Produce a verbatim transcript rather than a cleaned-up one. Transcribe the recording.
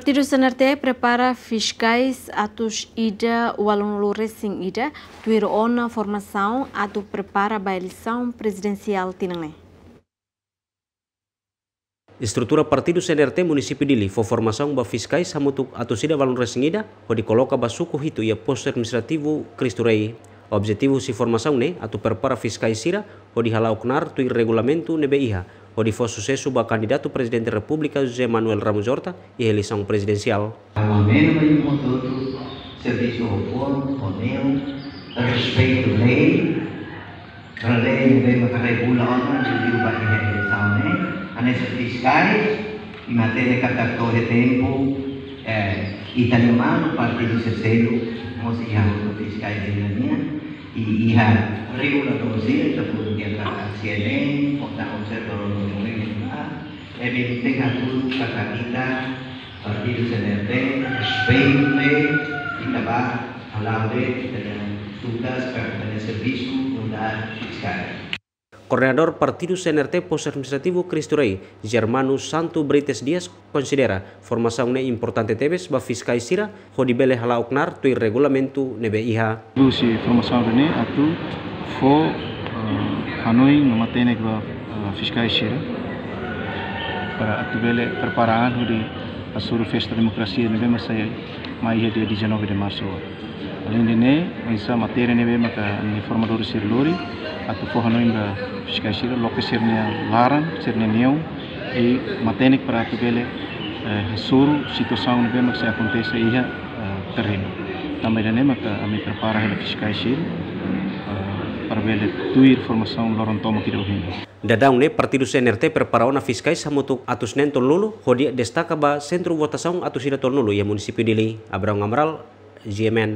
Partidu C N R T prepara fiskais atus ida ualunulu resin ida, tuir ona formasaun atu prepara ba eleisaun prezidensiál tinan ne'e. Estrutura Partidu C N R T Munisípiu Dili fó formasaun ba fiskais hamutuk atus ida ualunulu resin ida, hodi koloka ba suku hitu iha Postu Administrativu Cristo Rei. Objetivu husi formasaun ne'e atu prepara fiskais sira hodi hala'o knaar tuir regulamentu ne'ebé iha, hodi fó susesu ba kandidatu Prezidente Repúblika José Manuel Ramos Horta iha eleisaun prezidensiál. Ha'u hanoin ba imi hotu-hotu, servisu ho forma, ho neon, respeitu lei, para lei ne'ebé maka regula ona, liuliu ba iha eleisaun ne'e, hanesan fiskais, imi hatene katak to'o iha tempu, eh, ita-nia manu partidu C C U, mós iha hotu fiskais ida nian, i iha reguladór sira, ita pun iha katak C N M, kota observadór no M N A, ne'ebé ita hatudu katak ita, Partidu C N R T, respeitu lei, ita bá hala'o lei, ita-nia tugas, ita-nia servisu, nu'udar fiskais. Koordenadór Partidu C N R T Postu Administrativu Cristo Rei, Germano Santo Brites Dias, konsidera formasaun ne'e importante tebes ba fiskais sira, hodi bele hala'o knaar tuir regulamentu ne'ebé iha. Husi formasaun ne'e atu fó, eh, hanoin no matenek ba, eh, fiskais sira, para atu bele prepara an hodi hasoru festa demokrasia ne'ebé mak sei mai iha dia dezanove de março. Aleinde ne'e, oinsá matéria ne'ebé maka ami-nia formadór sira lori, atu fó hanoin ba fiskais sira, loke sira-nia laran, sira-nia neon, i matenek para atu bele, eh, hasoru situasaun ne'ebé mak sei akontese iha, eh, terrenu. Tanba ida-ne'e maka ami prepara hela fiskais sira, eh, para bele tuir formasaun loron tomak ida ohin. Daudaun ne'e Partidu C N R T prepara ona fiskais hamutuk atus neen tolunulu, hodi destaka ba sentru votasaun atus ida tolunulu iha Munisípiu Dili. Abrão Amaral, G M N.